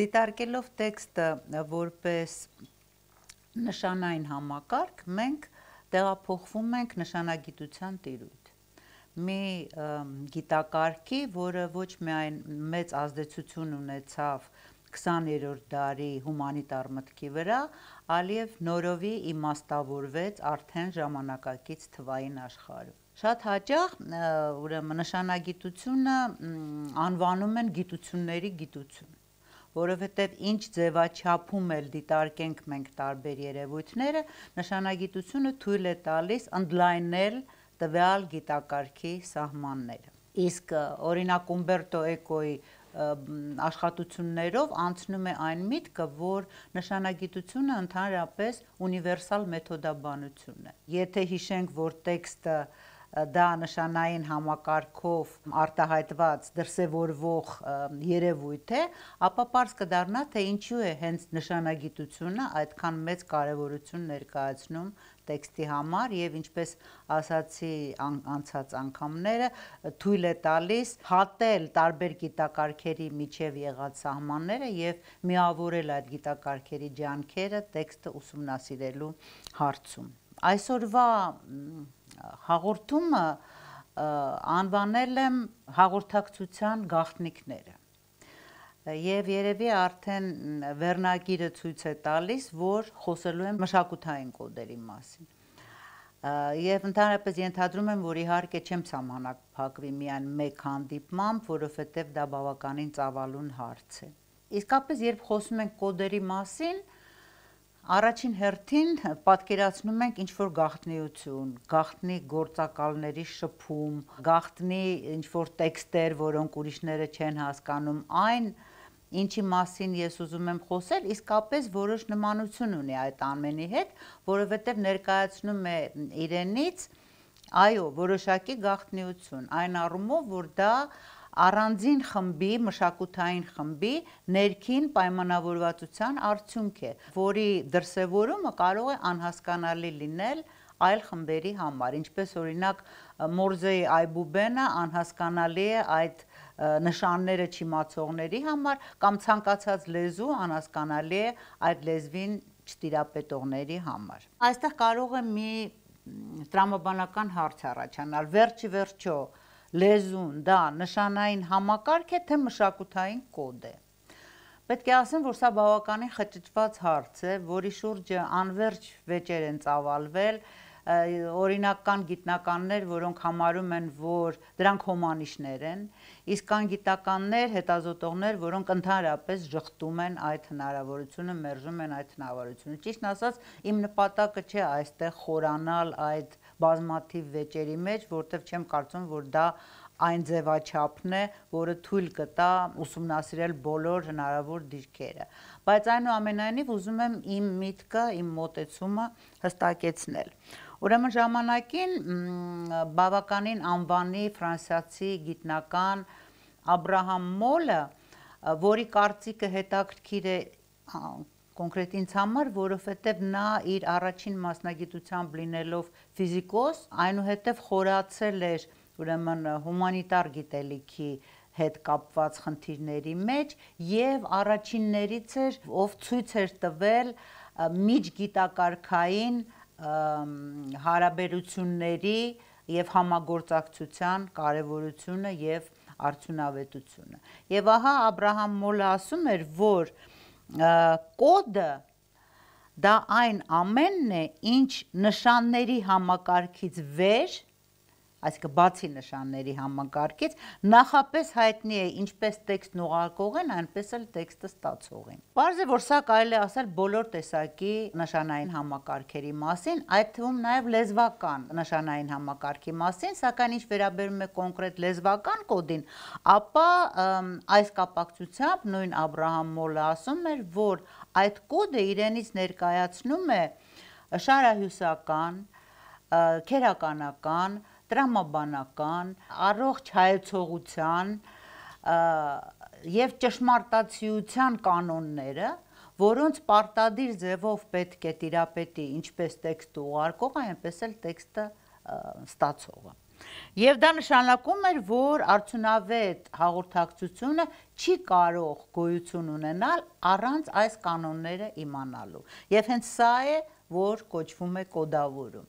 Դիտարկելով տեքստը որպես նշանային համակարգ, մենք տեղափոխվում ենք նշանագիտության տիրույթ։ Մի գիտակարգի, որը ոչ միայն մեծ ազդեցություն ունեցավ 20-րդ դարի հումանիտար մտքի վրա, այլև նորովի իմաստավորվեց արդեն ժամանակակից թվային աշխարհում։ Շատ հաճախ ուրեմն նշանագիտությունը անվանում են գիտությունների գիտություն, որովհետև ինչ ձևաչափում էլ դիտարկենք մենք տարբեր երևույթները, նշանագիտությունը թույլ է տալիս ընդլայնել տվյալ գիտակարգի սահմանները։ Իսկ օրինակ Ումբերտո Էկոյի աշխատություններով անցնում է այն միտքը, որ նշանագիտությունը ընդհանրապես ունիվերսալ մեթոդաբանություն է։ Եթե հիշենք, որ տեքստը դա նշանային համակարգով արտահայտված դրսևորվող երևույթ է, ապա պարզ կդառնա, թե ինչու է հենց նշանագիտությունը այդքան մեծ կարևորություն ներկայացնում տեքստի համար եւ ինչպես ասացի անցած անգամները թույլ է տալիս հատել տարբեր գիտակարգերի միջև եղած սահմանները եւ միավորել այդ գիտակարգերի ջանքերը տեքստը ուսումնասիրելու հարցում։ Այսօրվա հաղորդումը անվանել եմ հաղորդակցության գաղտնիքները եւ երևի արդեն վերնագիրը ցույց է տալիս, որ խոսելու եմ մշակութային կոդերի մասին։ Եվ ընդհանրապես ենթադրում եմ, որ իհարկե չեմ սահմանափակվի միայն մեկ հանդիպմամբ, որովհետև դա բավականին ծավալուն հարց է։ Իսկապես, երբ խոսում ենք կոդերի մասին, առաջին հերթին պատկերացնում ենք ինչ-որ գաղտնիություն, գաղտնի գործակալների շփում, գաղտնի ինչ-որ տեքստեր, որոնք ուրիշները չեն հասկանում, այն ինչի մասին ես ուզում եմ խոսել, իսկապես որոշ նմանություն ունի այդ ամենի հետ, որովհետև ներկայացնում է իրենից, այո, որոշակի գաղտնիություն, այն առումով, որ դա առանձին խմբի, մշակութային խմբի ներքին պայմանավորվածության արդյունք է, որի դրսևորումը կարող է անհասկանալի լինել այլ խմբերի համար, ինչպես օրինակ Մորզեի այբուբենը անհասկանալի է այդ նշանները չիմացողների համար կամ ցանկացած լեզու անհասկանալի է այդ լեզվին չտիրապետողների համար։ Այստեղ կարող է մի տրամաբանական հարց առաջանալ, վերջի վերջո լեզուն դա նշանային համակարգ է, թե մշակութային կոդ է։ Պետք է ասեմ, որ սա բավականին խճճված հարց է, որի շուրջը անվերջ վեճեր են ծավալվել, օրինակ կան գիտնականներ, որոնք համարում են, որ դրանք հոմանիշներ են, իսկ կան գիտականներ, հետազոտողներ, որոնք ընդհանրապես ժխտում են այդ հնարավորությունը, մերժում են այդ հնարավորությունը։ Ճիշտն ասած, իմ նպատակը չէ այստեղ խորանալ այդ բազմաթիվ վեճերի մեջ, որտեղ չեմ կարծում, որ դա այն ձևաչափն է, որը թույլ կտա ուսումնասիրել բոլոր հնարավոր դիրքերը։ Բայց այնուամենայնիվ ուզում եմ իմ միտքը, իմ մոտեցումը հստակեցնել։ Ուրեմն ժամանակին բավականին անվանի ֆրանսիացի գիտնական Աբրահամ Մոլը, որի կարծիքը հետաքրքիր է կոնկրետ ինձ համար, որովհետև նա իր առաջին մասնագիտությամբ լինելով ֆիզիկոս, այնուհետև խորացել էր ուրեմն հումանիտար գիտելիքի հետ կապված խնդիրների մեջ եւ առաջիններից էր, ով ցույց էր տվել միջգիտակարգային հարաբերությունների եւ համագործակցության կարեւորությունը եւ արդյունավետությունը։ Եվ ահա Աբրահամ Մոլը ասում էր, որ կոդը դա այն ամենն է, ինչ նշանների համակարգից վեր, այսինքն բացի նշանների համակարգից, նախապես հայտնի է ինչպես տեքստն ուղարկողին, այնպես էլ տեքստը ստացողին։ Պարզ է, որ սա կարելի է ասել բոլոր տեսակի նշանային համակարգերի մասին, այդ թվում նաև լեզվական նշանային համակարգի մասին, սակայն ինչ վերաբերում է կոնկրետ լեզվական կոդին, ապա այս կապակցությամբ նույն Աբրահամ Մոլը ասում էր, որ այդ կոդը իրենից ներկայացնում է շարահյուսական, քերականական, տրամաբանական, առողջ հայեցողության եւ ճշմարտացիության կանոնները, որոնց պարտադիր ձևով պետք է տիրապետի ինչպես տեքստը ուղարկողը, այնպես էլ տեքստը ստացողը։ Եվ դա նշանակում էր, որ արդյունավետ հաղորդակցությունը չի կարող գոյություն ունենալ առանց այս կանոնները իմանալու։ Եւ հենց սա է, որ կոչվում է կոդավորում։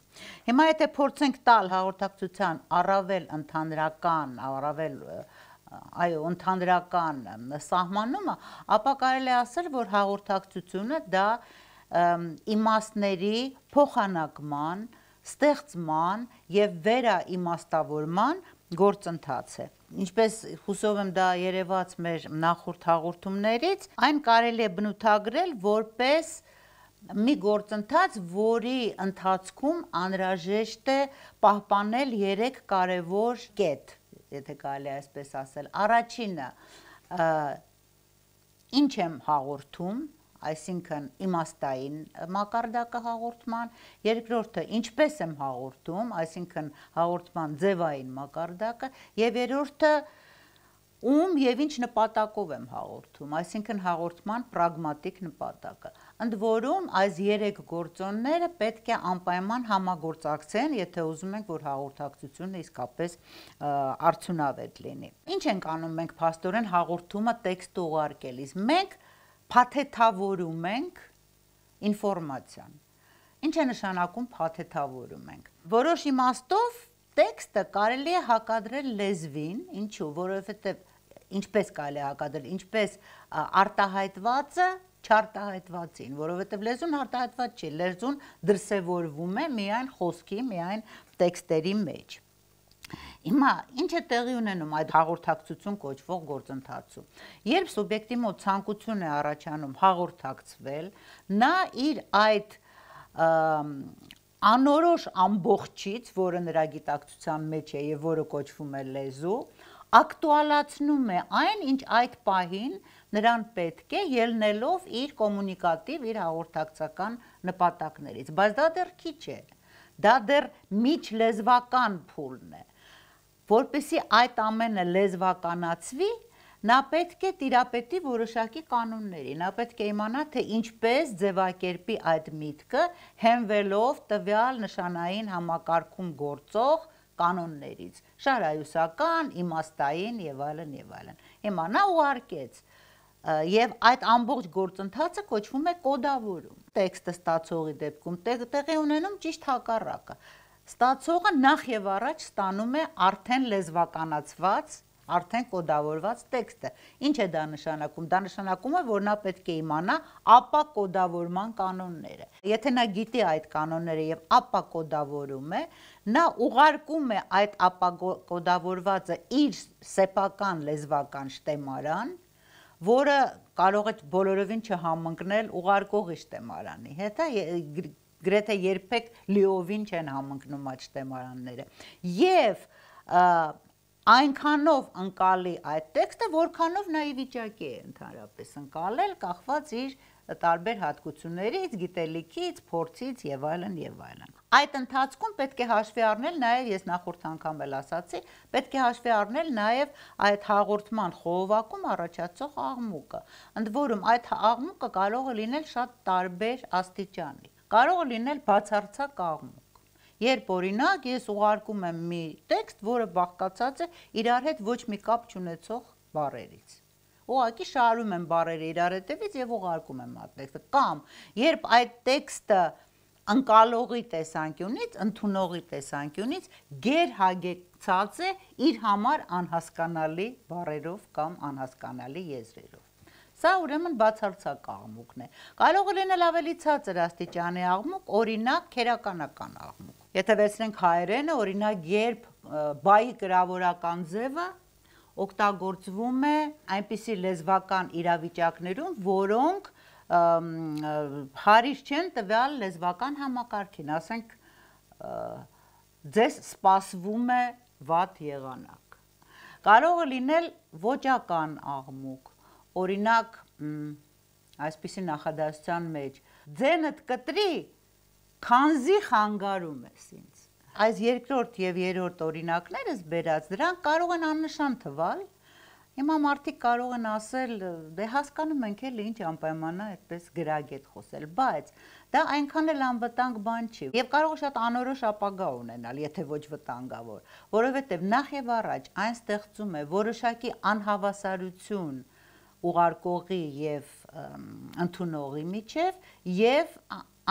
Հիմա եթե փորձենք տալ հաղորդակցության առավել ընդհանրական, ընդհանրական սահմանումը, ապա կարելի է ասել, որ հաղորդակցությունը դա իմաստների փոխանակման, ստեղծման եւ վերաիմաստավորման գործընթաց է։ Ինչպես հուսով եմ դա երևաց մեր նախորդ հաղորդումներից, այն կարելի է բնութագրել որպես մի գործընթաց, որի ընթացքում անհրաժեշտ է պահպանել 3 կարևոր կետ, եթե կարելի է այսպես ասել։ Առաջինը, ինչ եմ հաղորդում, այսինքն իմաստային մակարդակը հաղորդման, երկրորդը ինչպես եմ հաղորդում, այսինքն հաղորդման ձևային մակարդակը, եւ երրորդը ում եւ ինչ նպատակով եմ հաղորդում, այսինքն հաղորդման պրագմատիկ նպատակը։ Ընդ որում այս 3 գործոնները պետք է անպայման համագործակցեն, եթե ուզում ենք, որ հաղորդակցությունը իսկապես արդյունավետ լինի։ Ինչ ենք անում մենք փաստորեն հաղորդումը տեքստը ուղարկելիս։ Մենք փաթեթավորում ենք ինֆորմացիան։ Ինչ է նշանակում փաթեթավորում ենք։ Որոշ իմաստով տեքստը կարելի է հակադրել լեզվին, ինչու, որովհետև ինչպես կարելի է հակադրել, ինչպես արտահայտվածը չարտահայտվածին, որովհետև լեզուն արտահայտված չի, լեզուն դրսևորվում է միայն խոսքի, միայն տեքստերի մեջ։ Հիմա ինչ է տեղի ունենում այդ հաղորդակցություն կոչվող գործընթացում։ Երբ սուբյեկտի մոտ ցանկություն է առաջանում հաղորդակցվել, նա իր այդ անորոշ ամբողջից, որը նրա գիտակցության մեջ է եւ որը կոչվում է լեզու, ակտուալացնում է այն, ինչ այդ պահին նրան պետք է, ելնելով իր կոմունիկատիվ, իր հաղորդակցական նպատակներից, բայց դա դեռ քիչ է, դա դեռ միջլեզվական փուլն է։ Որպեսզի այդ ամենը լեզվականացվի, նա պետք է տիրապետի որոշակի կանոնների, նա պետք է իմանա, թե ինչպես ձևակերպի այդ միտքը, հենվելով տվյալ նշանային համակարգում գործող կանոններից, շարայուսական, իմաստային եւ այլն եւ այլն։ Հիմա նա ուղարկեց եւ այդ ամբողջ գործընթացը կոչվում է կոդավորում։ Տեքստը ստացողի դեպքում տեղի ունենում ճիշտ հակառակը։ Ստացողը նախ եւ առաջ ստանում է արդեն լեզվականացված, արդեն կոդավորված տեքստը։ Ինչ է դա նշանակում։ Դա նշանակում է, որ նա պետք է իմանա ապա կոդավորման կանոնները։ Եթե նա գիտի այդ կանոնները եւ ապա կոդավորում է, նա ուղարկում է այդ ապա կոդավորվածը իր սեփական լեզվական շտեմարան, որը կարող է բոլորովին չհամընկնել ուղարկողի շտեմարանի հետ, գրեթե երբեք լիովին չեն համընկնում այդ շտեմարանները։ Եվ այնքանով ընկալի այդ տեքստը, որքանով նա ի վիճակի է ընդհանրապես ընկալել, կախված իր տարբեր հատկություններից, գիտելիքից, փորձից եւ այլն եւ այլն։ Այդ ընթացքում պետք է հաշվի առնել նաեւ, ես նախորդ անգամ էլ ասացի, պետք է հաշվի առնել նաեւ այդ հաղորդման խողովակում առաջացող աղմուկը։ Ընդ որում այդ աղմուկը կարող է լինել շատ տարբեր աստիճանի։ Կարող է լինել բացարձակ աղմուկ։ Երբ օրինակ ես ուղարկում եմ մի տեքստ, որը բաղկացած է իրար հետ ոչ մի կապ չունեցող բառերից։ Ուղղակի շարում եմ բառերը իրար հետևից եւ ուղարկում եմ այդ տեքստը։ Կամ երբ այդ տեքստը ընկալողի տեսանկյունից, ընդունողի տեսանկյունից գերհագեցած է իր համար անհասկանալի բառերով կամ անհասկանալի եզրերով։ Սա ուրեմն բացարձակ աղմուկն է։ Կարող է լինել ավելի ցածր աստիճանի աղմուկ, օրինակ քերականական աղմուկ։ Եթե վերցնենք հայերենը, օրինակ երբ բայի կրավորական ձևը օգտագործվում է այնպիսի լեզվական իրավիճակներում, որոնք հարիր չեն տվյալ լեզվական համակարգին, ասենք ձեզ սպասվում է վատ եղանակ։ Կարող է լինել ոճական աղմուկ, օրինակ այսպիսի նախադասության մեջ ձենդ կտրի, քանզի խանգարում ես ինձ, Այս երկրորդ եւ երրորդ օրինակներս բերած դրանք կարող են աննշան թվալ։ Հիմա մարդիկ կարող են ասել, դե հասկանում ենք էլի ինչ անպայման է այդպես գրագետ խոսել, բայց դա այնքան էլ անվտանգ բան չի եւ կարող է շատ անորոշ ապագա ունենալ, եթե ոչ վտանգավոր, որովհետեւ նախ եւ առաջ այն ստեղծում է որոշակի անհավասարություն ուղարկողի եւ ընդունողի միջև եւ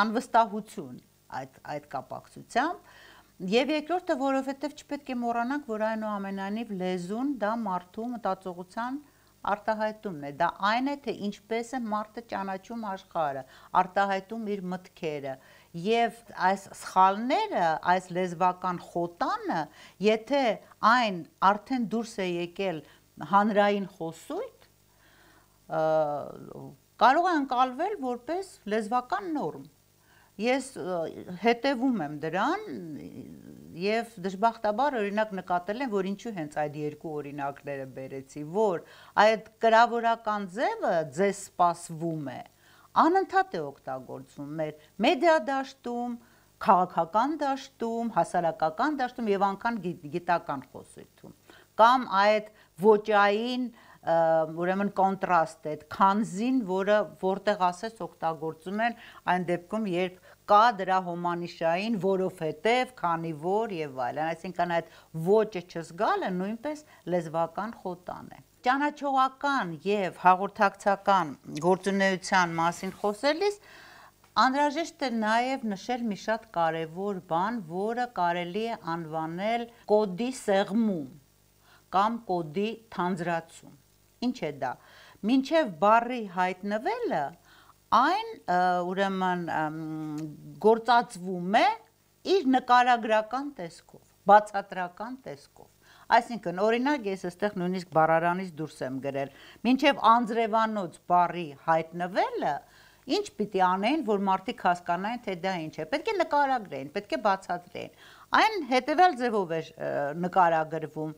անվստահություն այդ կապակցությամբ Եվ երկրորդը, որովհետև չպետք է մոռանանք, որ այնուամենայնիվ լեզուն դա մարդու մտածողության արտահայտումն է, դա այն է, թե ինչպես է մարդը ճանաչում աշխարհը, արտահայտում իր մտքերը, եւ այս սխալները, այս լեզվական խոտանը, եթե այն արդեն դուրս է եկել հանրային խոսույթ, կարող է ընկալվել որպես լեզվական նորմ Ես հետևում եմ դրան եւ դժբախտաբար օրինակ նկատել եմ, որ ինչու հենց այդ երկու օրինակները բերեցի, որ այդ կրավորական ձևը ձեզ սպասվում է, անընդհատ է օգտագործվում մեր մեդիա դաշտում, քաղաքական դաշտում, հասարակական դաշտում եւ անգամ գիտական խոսույթում, կամ այդ ոճային ուրեմն կոնտրաստ է, քանզին, որտեղ ասես օգտագործում են այն դեպքում, երբ կա դրա հոմանիշային, որովհետև, քանի որ եւ այլն, այսինքն այդ ոճը չզգալը նույնպես լեզվական խոտան է։ Ճանաչողական եւ հաղորդակցական գործունեության մասին խոսելիս անհրաժեշտ է նաեւ նշել մի շատ կարեւոր բան, որը կարելի է անվանել կոդի սեղմում կամ կոդի թանձրացում։ Ինչ է դա։ Մինչև բառի հայտնվելը այն ուրեմն գործածվում է իր նկարագրական տեսքով, բացատրական տեսքով։ Այսինքն, օրինակ ես այստեղ նույնիսկ բառարանից դուրս եմ գրել, մինչև անձրևանոց բառի հայտնվելը ինչ պիտի անեն, որ մարդիկ հասկանային, թե դա ինչ է։ Պետք է նկարագրեն, պետք է բացատրեն։ Այն հետևյալ ձևով է նկարագրվում.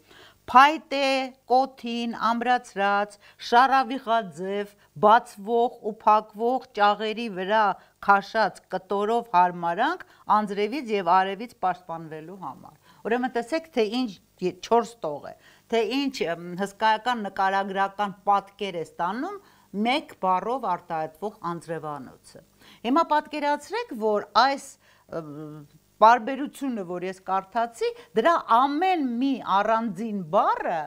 Փայտե, կոթին, ամրացրած, շարավիղաձև, բացվող ու փակվող ճաղերի վրա քաշած կտորով հարմարանք անձրևից եւ արևից պաշտպանվելու համար։ Ուրեմն տեսեք, թե ինչ 4 տող է, թե ինչ հսկայական նկարագրական պատկեր է ստանում մեկ բառով արտահայտվող անձրևանոցը։ Հիմա պատկերացրեք, որ այս Բարբերությունը, որ ես կարդացի, դրա ամեն մի առանձին բառը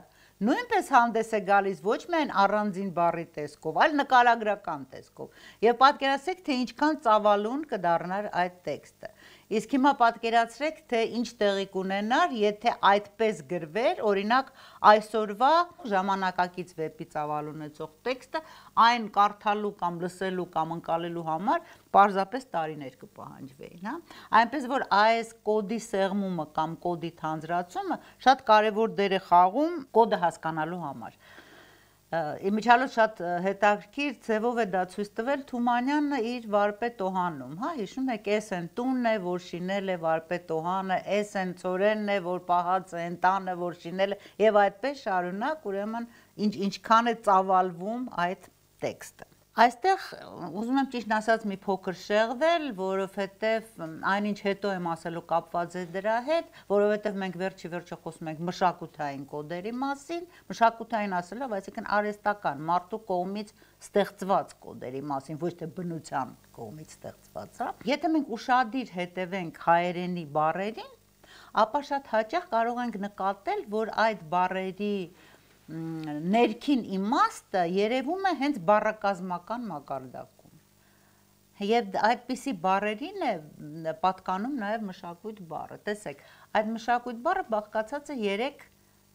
նույնպես հանդես է գալիս ոչ միայն առանձին բառի տեսքով, այլ նկարագրական տեսքով։ Եվ պատկերացրեք, թե ինչքան ծավալուն կդառնար այդ տեքստը։ Իսկ հիմա պատկերացրեք, թե ինչ տեղի կունենար, եթե այդպես գրվեր, օրինակ այսօրվա ժամանակակից վեպի ծավալ ունեցող տեքստը, այն կարդալու կամ լսելու կամ ընկալելու համար պարզապես տարիներ կպահանջվեին, հա։ Այնպես որ այս կոդի սեղմումը կամ կոդի թանձրացումը շատ կարևոր դեր է խաղում կոդը հասկանալու համար։ Իմիջիալոց շատ հետաքրքիր ձևով է դա ցույց տվել Թումանյանը իր վարպետ Օհանում, հա, հիշում եք, էս են տունն է, որ շինել է վարպետ Օհանը, էս են ծորենն է, որ պահած է ընտանը, որ շինել է, եւ այդպես շարունակ, ուրեմն ինչքան է ծավալվում այդ տեքստը։ Այստեղ ուզում եմ ճիշտ ասած մի փոքր շեղվել, որովհետև այնինչ հետո եմ ասելու կապված է դրա հետ, որովհետև մենք վերջի վերջը խոսում ենք մշակութային կոդերի մասին, մշակութային ասելով, այսինքն արհեստական, մարդու կողմից ստեղծված կոդերի մասին, ոչ թե բնության կողմից ստեղծված, հա։ Եթե մենք ուշադիր հետևենք հայերենի բառերին, ապա շատ հաճախ կարող ենք նկատել, որ այդ բառերի ներքին իմաստը երևում է հենց բառակազմական մակարդակում։ Եվ այդպիսի բառերին է պատկանում նաև մշակույթ բառը։ Տեսեք, այդ մշակույթ բառը բաղկացած է 3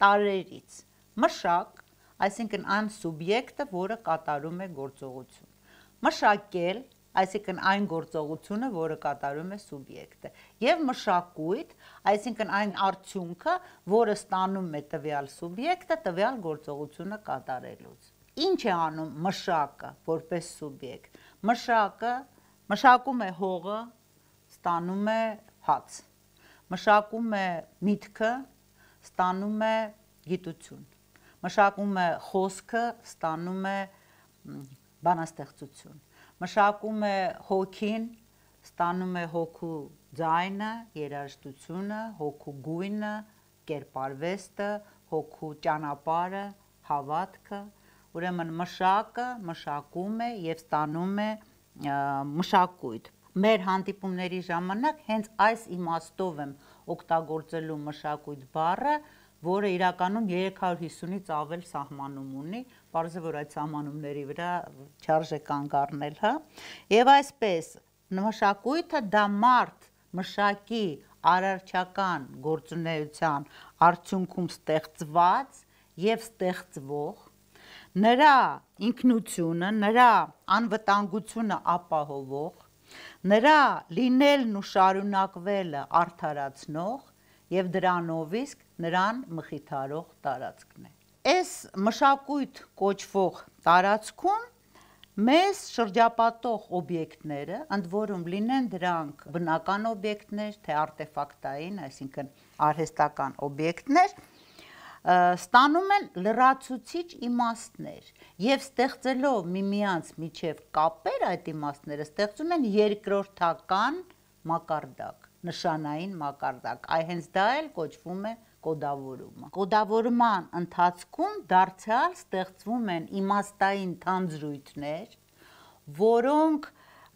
տարրերից։ Մշակ, այսինքն այն սուբյեկտը, որը կատարում է գործողություն։ Մշակել, այսինքն այն գործողությունը, որը կատարում է սուբյեկտը, եւ մշակույթ, այսինքն այն արդյունքը, որը ստանում է տվյալ սուբյեկտը տվյալ գործողությունը կատարելուց։ Ինչ է անում մշակը որպես սուբյեկտ։ Մշակը մշակում է հողը, ստանում է հաց։ Մշակում է միտքը, ստանում է գիտություն։ Մշակում է խոսքը, ստանում է բանաստեղծություն։ Մշակում է հոգին, ստանում է հոգու ձայնը, երաժշտությունը, հոգու գույնը, կերպարվեստը, հոգու ճանապարհը, հավատքը, ուրեմն մշակը մշակում է եւ ստանում է մշակույթ։ Մեր հանդիպումների ժամանակ հենց այս իմաստով եմ օգտագործելու մշակույթ բառը, որը իրականում 350-ից ավել սահմանում ունի, պարզ է, որ այդ սահմանումների վրա չարժե կանգ առնել, հա։ Եվ այսպես, մշակույթը դա մարդ մշակի արարչական գործունեության արդյունքում ստեղծված եւ ստեղծվող, նրա ինքնությունը, նրա անվտանգությունը ապահովող, նրա լինելն ու շարունակվելը արդարացնող եւ դրանով իսկ նրան մխիթարող տարածքն է։ Այս մշակույթ կոչվող տարածքում մեզ շրջապատող օբյեկտները, ընդ որում լինեն դրանք բնական օբյեկտներ, թե արտեֆակտային, այսինքն արհեստական օբյեկտներ, ստանում են լրացուցիչ իմաստներ եւ ստեղծելով միմյանց միջև կապեր այդ իմաստները ստեղծում են երկրորդական մակարդակ, նշանային մակարդակ, հենց դա էլ կոչվում է կոդավորումը։ Կոդավորման ընթացքում դարձյալ ստեղծվում են իմաստային թանձրույթներ, որոնք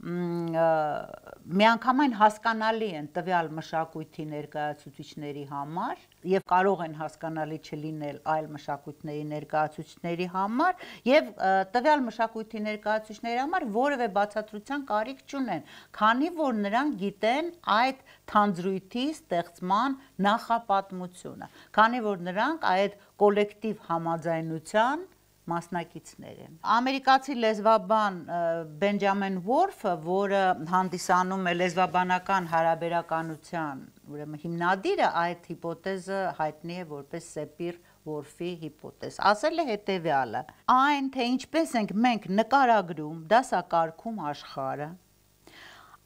միանգամայն հասկանալի են տվյալ մշակույթի ներկայացուցիչների համար եւ կարող են հասկանալի չլինել այլ մշակույթների ներկայացուցիչների համար եւ տվյալ մշակույթի ներկայացուցիչների համար որևէ բացատրության կարիք չունեն, քանի որ նրանք գիտեն այդ թանձրույթի ստեղծման նախապատմությունը, քանի որ նրանք այդ կոլեկտիվ համաձայնության մասնակիցներ են։ Ամերիկացի լեզվաբան Բենջամին Վորֆը, որը հանդիսանում է լեզվաբանական հարաբերականության ուրեմն հիմնադիրը, այդ հիպոթեզը հայտնի է որպես Սեպիր-Վորֆի հիպոթեզ, ասել է հետևյալը. այն, թե ինչպես ենք մենք նկարագրում, դասակարգում աշխարհը,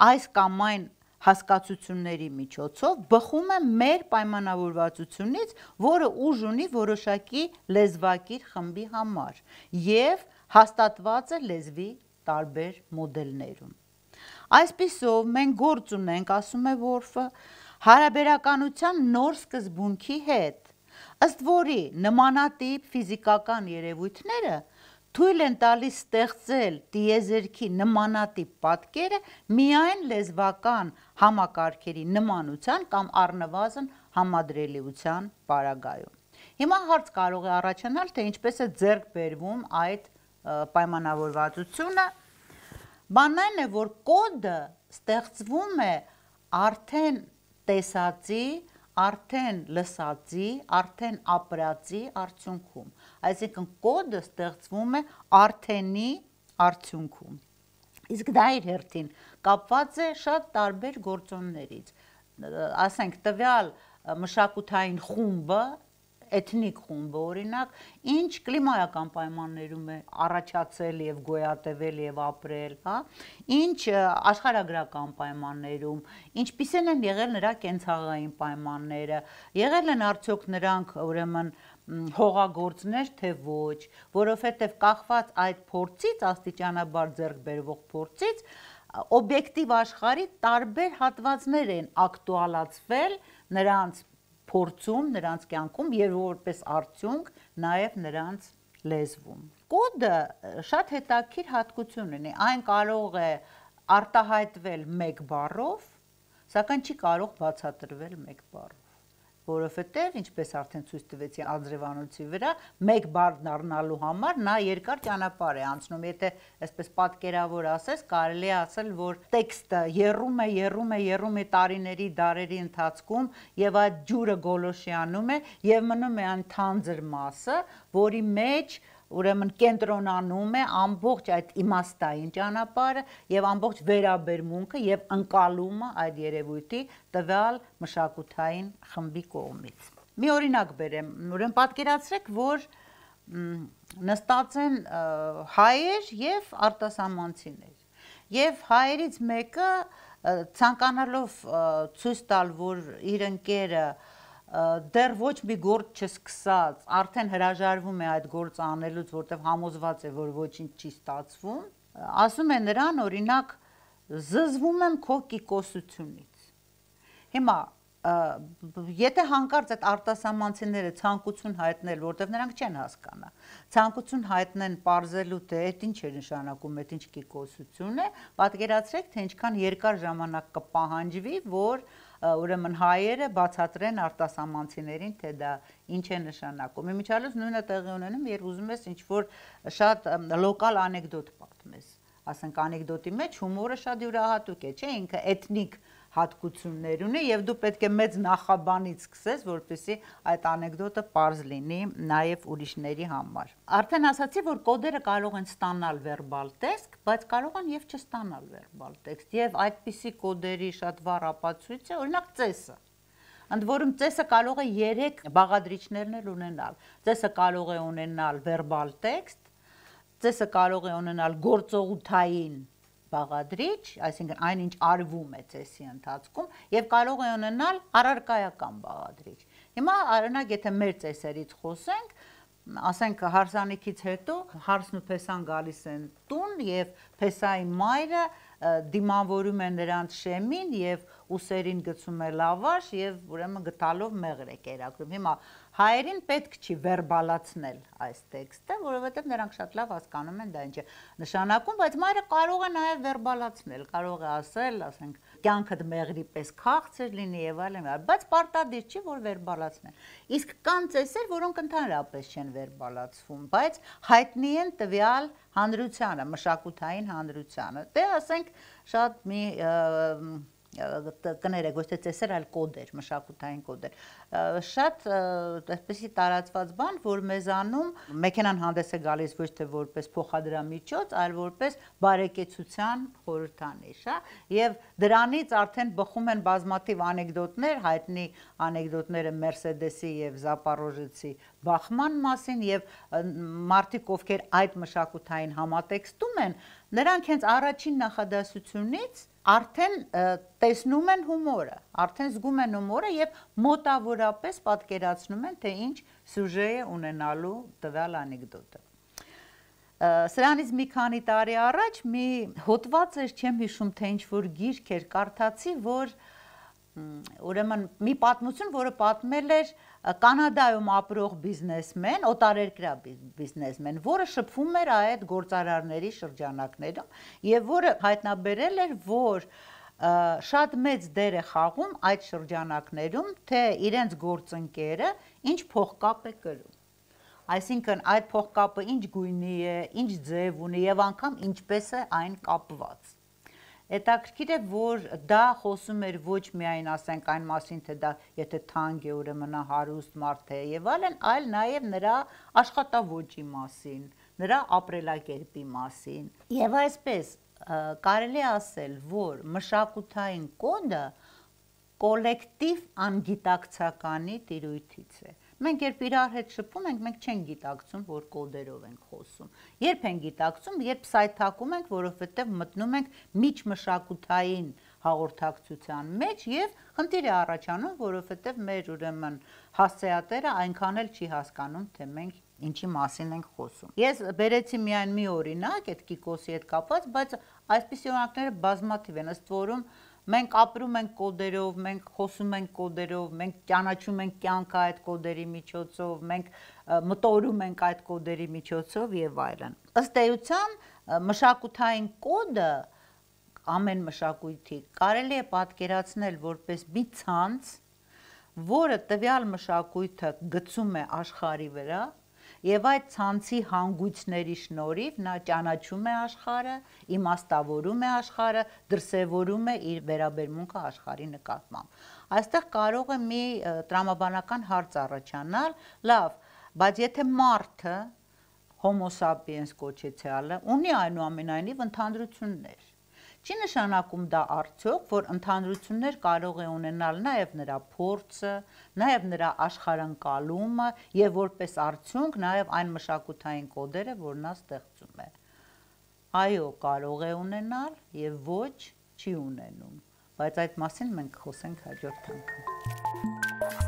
այս կամ այն հասկացությունների միջոցով բխում է մեր պայմանավորվածությունից, որը ուժ ունի որոշակի լեզվակիր խմբի համար եւ հաստատված է լեզվի տարբեր մոդելներում։ Այսպիսով մենք գործ ունենք, ասում է Վորֆը, հարաբերականության նոր սկզբունքի հետ, ըստ որի նմանատիպ ֆիզիկական երևույթները թույլ են տալիս ստեղծել տիեզերքի նմանատիպ պատկերը միայն լեզվական համակարգերի նմանության կամ առնվազն համադրելիության պարագայում։ Հիմա հարց կարող է առաջանալ, թե ինչպես է ձեռք բերվում այդ պայմանավորվածությունը։ Բանն այն է, որ կոդը ստեղծվում է արդեն տեսածի, արդեն լսածի, արդեն ապրածի արդյունքում, այսինքն կոդը ստեղծվում է արդենի արդյունքում, իսկ դա իր հերթին կապված է շատ տարբեր գործոններից, ասենք տվյալ մշակութային խումբը, էթնիկ խումբը օրինակ, ինչ կլիմայական պայմաններում է առաջացել եւ գոյատևել եւ ապրել, հա, ինչ աշխարհագրական պայմաններում, ինչպիսին են եղել նրա կենցաղային պայմանները, եղել են արդյոք նրանք ուրեմն հողագործներ թե ոչ, որովհետեւ կախված այդ փորձից, աստիճանաբար ձեռք բերվող փորձից, օբյեկտիվ աշխարհի տարբեր հատվածներ են ակտուալացվել նրանց փորձում, նրանց կյանքում եւ որպես արդյունք նաեւ նրանց լեզվում։ Կոդը շատ հետաքրքիր հատկություն ունի, այն կարող է արտահայտվել մեկ բառով, սակայն չի կարող բացատրվել մեկ բառով, որովհետև ինչպես արդեն ցույց տվեցի անձրևանոցի վրա, մեկ բառ դառնալու համար նա երկար ճանապարհ է անցնում, եթե այսպես պատկերավոր ասես, կարելի է ասել, որ տեքստը եռում է տարիների, դարերի ընթացքում եւ այդ ջուրը գոլոշյանում է եւ մնում է այն թանձր մասը, որի մեջ ուրեմն կենտրոնանում է ամբողջ այդ իմաստային ճանապարհը եւ ամբողջ վերաբերմունքը եւ ընկալումը այդ երևույթի տվյալ մշակութային խմբի կողմից։ Մի օրինակ բերեմ, ուրեմն պատկերացրեք, որ նստած են հայեր եւ արտասահմանցիներ եւ հայերից մեկը ցանկանալով ցույց տալ, որ իր ընկերը դեռ ոչ մի գործ չսկսած, արդեն հրաժարվում է այդ գործը անելուց, որտեղ համոզված է, որ ոչինչ չի ստացվում, ասում է նրան, օրինակ, զզվում եմ քո կիկոսությունից։ Հիմա եթե հանկարծ այդ արտասահմանցիները ցանկություն հայտնել, որտեղ նրանք չեն հասկանա, ցանկություն հայտնեն պարզելու թե այդ ինչ է նշանակում, այդ ինչ կիկոսություն է, պատկերացրեք, թե ինչքան երկար ժամանակ կպահանջվի, որ ուրեմն հայերը բացատրեն արտասահմանցիներին, թե դա ինչ է նշանակում։ Իմիջիալոց նույնը տեղի ունենում, երբ ուզում ես ինչ-որ շատ լոկալ անեկդոտ պատմես, ասենք անեկդոտի մեջ հումորը շատ յուրահատուկ է, չէ՞, ինքը էթնիկ հատկություններ ունի եւ դու պետք է մեծ նախաբանից սկսես, որպեսզի այդ անեկդոտը պարզ լինի նաեւ ուրիշների համար։ Արդեն ասացի, որ կոդերը կարող են ստանալ վերբալ տեքստ, բայց կարող են եւ չստանալ վերբալ տեքստ, եւ այդպիսի կոդերի շատ վառ ապացույց է, օրինակ ծեսը։ Ընդ որում ծեսը կարող է 3 բաղադրիչներն էլ ունենալ։ Ծեսը կարող է ունենալ վերբալ տեքստ, ծեսը կարող է ունենալ գործողութային բաղադրիչ, այսինքն այնինչ արվում է ծեսի ընթացքում, եւ կարող է ունենալ առարկայական բաղադրիչ։ Հիմա օրինակ եթե մեր ծեսերից խոսենք, ասենք հարսանիքից հետո հարսն ու փեսան գալիս են տուն եւ փեսայի մայրը դիմավորում է նրանց շեմին եւ ուսերին գցում է լավաշ եւ ուրեմն գտալով մեղր է կերակրում։ Հիմա հայերին պետք չի վերբալացնել այս տեքստը, որովհետեւ նրանք շատ լավ հասկանում են դա ինչ է նշանակում, բայց մայրը կարող է նաեւ վերբալացնել, կարող է ասել, ասենք, կյանքդ մեղրի պես քաղցր լինի եւ այլն, բայց պարտադիր չի որ վերբալացնեն։ Իսկ կան ծեսեր, որոնք ընդհանրապես չեն վերբալացվում, բայց հայտնի են տվյալ հանրությանը, մշակութային հանրությանը։ Դե ասենք շատ մի կներեք, ոչ թե ծեսեր, այլ կոդեր, մշակութային կոդեր։ Շատ այսպեսի տարածված բան, որ մեզանում մեքենան հանդես է գալիս ոչ թե որպես փոխադրամիջոց, այլ որպես բարեկեցության խորհրդանիշ, հա, եւ դրանից արդեն բխում են բազմաթիվ անեկդոտներ, հայտնի անեկդոտները Մերսեդեսի եւ Զապարոժեցի բախման մասին եւ մարդիկ, ովքեր այդ մշակութային համատեքստում են, նրանք հենց առաջին նախադասությունից արդեն տեսնում են հումորը, արդեն զգում են հումորը եւ մոտավորապես պատկերացնում են, թե ինչ սյուժե է ունենալու տվյալ անեկդոտը։ Սրանից մի քանի տարի առաջ մի հոդված էր, չեմ հիշում, թե ինչ որ գիրք էր, կարդացի, որ ուրեմն մի պատմություն, որը պատմել էր Կանադայում ապրող բիզնեսմեն, օտարերկրյա բիզնեսմեն, որը շփվում էր այդ գործարարների շրջանակներում եւ որը հայտնաբերել էր, որ շատ մեծ դեր է խաղում այդ շրջանակներում, թե իրենց գործընկերը ինչ փողկապ է կրում։ Այսինքն այդ փողկապը ինչ գույնի է, ինչ ձև ունի եւ անգամ ինչպես է այն կապված։ Հետաքրքիր է, որ դա խոսում էր ոչ միայն ասենք այն մասին, թե դա եթե թանկ է, ուրեմն հարուստ մարդ է եւ այլն, այլ նաեւ նրա աշխատավոճի մասին, նրա ապրելակերպի մասին։ Եվ այսպես կարելի է ասել, որ մշակութային կոդը կոլեկտիվ անգիտակցականի տիրույթից է։ Մենք երբ իրար հետ շփվում ենք, մենք չենք գիտակցում, որ կոդերով ենք խոսում։ Երբ ենք գիտակցում, երբ սայթակում ենք, որովհետև մտնում ենք միջմշակութային հաղորդակցության մեջ եւ խնդիր է առաջանում, որովհետև մեր ուրեմն հասցեատերը այնքան էլ չի հասկանում, թե մենք ինչի մասին ենք խոսում։ Ես բերեցի միայն մի օրինակ այդ կիկոսի հետ կապված, բայց այսպիսի օրինակները բազմաթիվ են, ըստ որում մենք ապրում ենք կոդերով, մենք խոսում ենք կոդերով, մենք ճանաչում ենք կյանքը այդ կոդերի միջոցով, մենք մտորում ենք այդ կոդերի միջոցով եւ այլն։ Ըստ էության մշակութային կոդը ամեն մշակույթի կարելի է պատկերացնել որպես մի ցանց, որը տվյալ մշակույթը գցում է աշխարհի վրա եւ այդ ցանցի հանգույցների շնորհիվ նա ճանաչում է աշխարհը, իմաստավորում է աշխարհը, դրսևորում է իր վերաբերմունքը աշխարհի նկատմամբ։ Այստեղ կարող է մի տրամաբանական հարց առաջանալ, լավ, բայց եթե մարդը Homo sapiens կոչեցյալը ունի այնուամենայնիվ ընդհանրություններ, չի նշանակում դա արդյոք, որ ընդհանրություններ կարող է ունենալ նաև նրա փորձը, նաև նրա աշխարհընկալումը եւ որպես արդյունք նաև այն մշակութային կոդերը, որ նա ստեղծում է։ Այո, կարող է ունենալ եւ ոչ չի ունենում, բայց այդ մասին մենք խոսենք հաջորդ անգամ։